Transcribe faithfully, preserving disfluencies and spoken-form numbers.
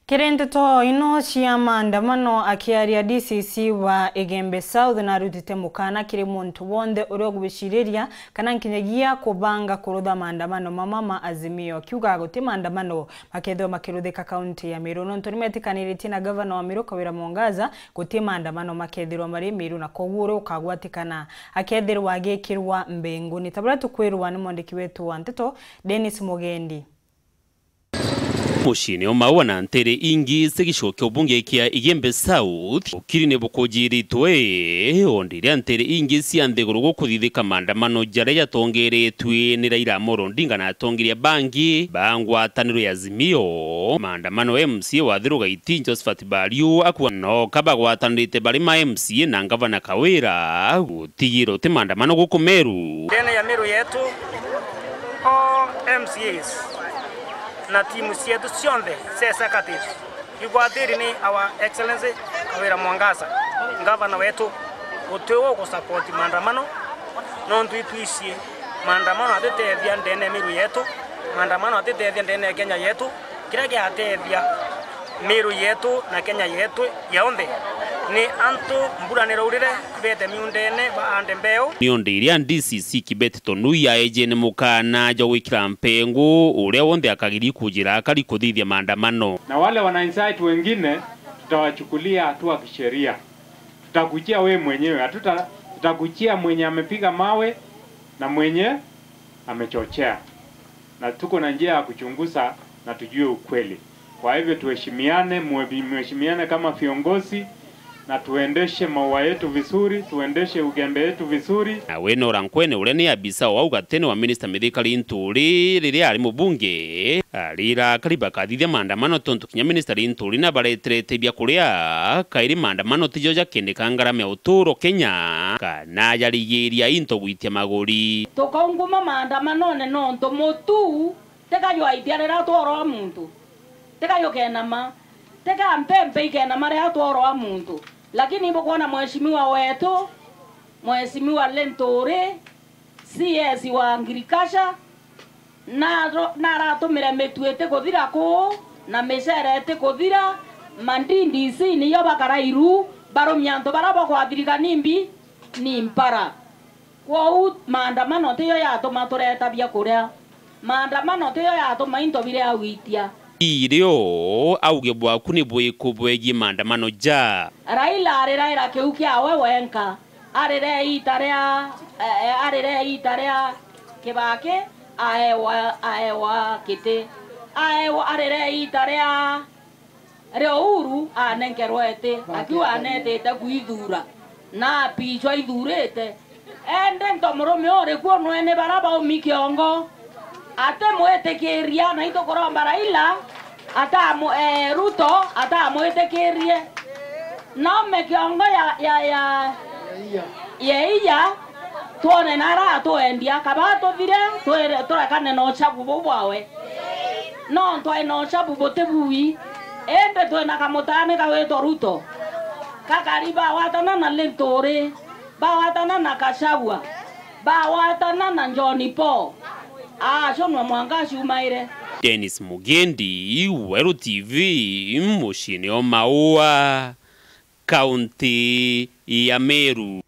Kiri nteto ino cia maandamano, akiaria D C C wa Igembe South narutite mukana kiri muntu wonthe uria ugwiciriria kana nkinyagia kubanga kurutha maandamano mama ma Azimio, akiuga guti maandamano makethirwa makiruthika kaunti ya Meru, nontu nimetikaniritie na gavana wa Meru Kawira Mwangaza, guti maandamano makethirwa mari Meru, na koguo uria ukagwatikana akethirwa agikirwa mbinguni. Ta buria tukwirwa ni mwandiki wetu wa nteto, Dennis Mugendi. Muciine o Maua na nteere ingi cia gicigo kia ubunge kia Igembe South, ukiri ni bukujiritwe, o ndiria nteere ingi cia nthiguru gukuthithika maandamano jaria jatongeretue ni Raila Amolo Odinga na atongeria bangi ba ngwataniro ya Azimio. Maandamano, M C A wa Thiru Gaiti Josephat Bariu akua noka bagwatanirite bari ma M C A na ngavana Kawira gutigira uti maandamano guku Meru. Ndene ya Meru yetu, all M C As na timu cietu cionthe cia executive igwatiri ni Our Excellency Kawira Mwangaza, ngavana wetu, guti ugusupport maandamano, nontu itwicie maandamano atitethia ndene ya Meru yetu, maandamano atitethia ndene ya Kenya yetu. Kiria giatethia Meru yetu na Kenya yetu yonthe ni antu mbura niraurire, bete miundene baande mbeu. Ni o ndiria D C C Kibeti Tonui aeje ni mukana jwa gwikira mpengu uria wonthe akagiri kujira akari kuthithia maandamano. Na wale wana incite wengine, tutawachukulia hatua kisheria. Tutakuchia wewe mwenyewe, hatuta-, tutakuchia mwenye amepiga mawe na mwenye amechochea. Na tuko na njia ya kuchunguza na tujue ukweli. Kwa hivyo tuheshimiane, mwe-, mheshimiane kama viongozi, na tuendeshe Maua yetu vizuri, tuendeshe Ugembe yetu vizuri. Nawe Nora Nkwene, uria ni abisa wa ugatene wa minista Mithika Linturi riria ari mubunge, arira akari bakathithia maandamano tontu kinya minista Linturi nabareterete bia kuria, kairi maandamano tijo jakindika ngarama ya uturo Kenya, kana jarigiria into gwitia maguri. Tukaunguma maandamanone nontu mutu tika jwaitia riria tworwa muntu, tika jukenama, tika mpempe ikenama riria tworwa muntu. Lakini ibukwona mheshimiwa wetu, mheshimiwa Linturi, C S wa agriculture, naro-, naratumire mitu itikuthira kuu, na micere itikuthira, ma D D C niyo bakara iru, barumia antu bara bakwathirika nimbi? Ni mpara. Kwou maandamano tiyo yatuma tureta biakuria. Maandamano tiyo yatuma into biria gwitia. Irio, auge bwaku ni bwiku bwegie maandamano ja? Raila ariraira kiu kiawe wenka. Arire iita ria, e, e, arire iita ria Kibaki, aewa, aewa kiti. Aewa, arire iita ria ria Uhuru anenkerwa iti, akiuga anetite kwithuura, na apichwa aithuurite. Indi nto murume uri kuo nwene bara baumi kiongo, atimwitikiria, na itukuromba Raila atamu-, ee, Ruto atamwitikirie. Naume kiongo ya, ya, ya, ya iya, twone nara atwendia, kaba tuthire, twire-, turekane na uchabu buu bwawe. Nontu ai na uchabu buti bui, indi twina kamutani kawitwa Ruto. Kakari bawatana na Linturi, bawatana na Gachagua, bawatana na John Paul. Acio nwa mwanka aciumaire. Dennis Mugendi, Weru T V, muciine o Maua, kaunti ya Meru.